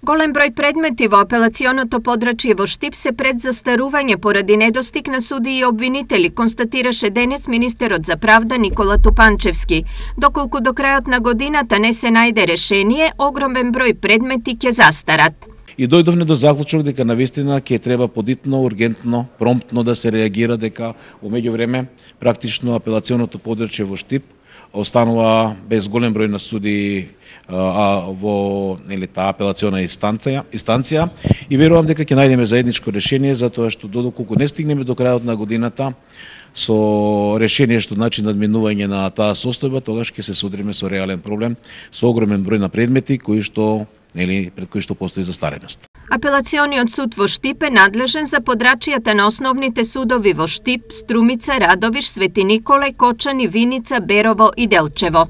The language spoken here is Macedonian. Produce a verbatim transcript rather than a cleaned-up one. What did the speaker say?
Голем број предмети во апелационото подрачје во Штип се пред застарување поради недостиг на суди и обвинители, констатираше денес министерот за правда Никола Тупанчевски. Доколку до крајот на годината не се најде решение, огромен број предмети ќе застарат. И дојдовме до заклучок дека навистина ќе треба подитно, ургентно, промптно да се реагира, дека во меѓувреме практично апелационото подрачје во Штип останува без голем број на суди а, во нели таа апелациона инстанција, инстанција и верувам дека ќе најдеме заедничко решение, затоа што додолку не стигнеме до крајот на годината со решение што значи надминување на таа состојба, тогаш ќе се судриме со реален проблем, со огромен број на предмети кои што нели пред кои што постои застареност. Апелациониот суд во Штип е надлежен за подрачјата на основните судови во Штип, Струмица, Радовиш, Свети Николај, Кочани, Виница, Берово и Делчево.